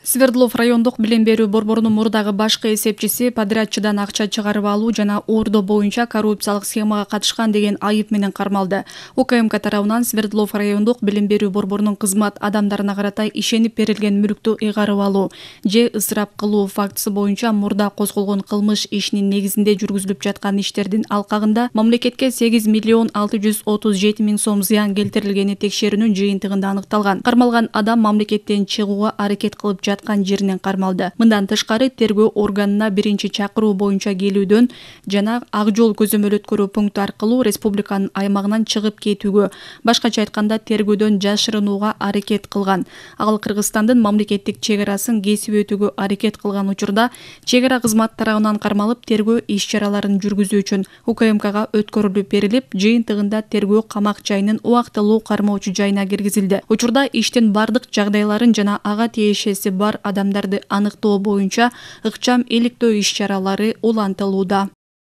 Свердлов райондук билим берүү борборунун мурдагы башкы эсепчиси подрядчыдан акча чыгарып алуу жана оордоо боюнча коррупциялык схемага катышкан деген айып менен кармалды. УКМК тарабынан Свердлов райондук билим берүү борборунун кызмат адамдарына карата ишенип берилген мүлктү ыйгарып алуу же ысырап кылуу фактысы боюнча мурда козголгон кылмыш ишинин негизинде жүргүзүлүп жаткан иштердин алкагында мамлекетке 8 миллион 637 миң сом зыян келтирилгени текшерүүнүн жыйынтыгында аныкталган. Кармалган адам мамлекеттен чыгууга аракет кылып жаткан жеринен кармалды. Мындан тышкары тергөө органына биринчи чакыруу боюнча келүүдөн жана ак жол көзөмөл пункту аркылуу республиканын аймагынан чыгып кетүүгө, башкача айтканда тергөөдөн жашырынууга аракет кылган. Ал Кыргызстандын мамлекеттик чек арасын кесип өтүүгө аракет кылган учурда чек ара кызматы тарабынан кармалып тергөө иш-чараларын жүргүзүү үчүн УКМКга өткөрүлүп берилип, жыйынтыгында тергөө камак жайынын убактылуу кармоочу жайына киргизилди. Учурда иштин бардык жагдайларын жана ага тиешеси бар адамдарды аныктоо боюнча ыкчам иликтөө иш-чаралары улантылууда.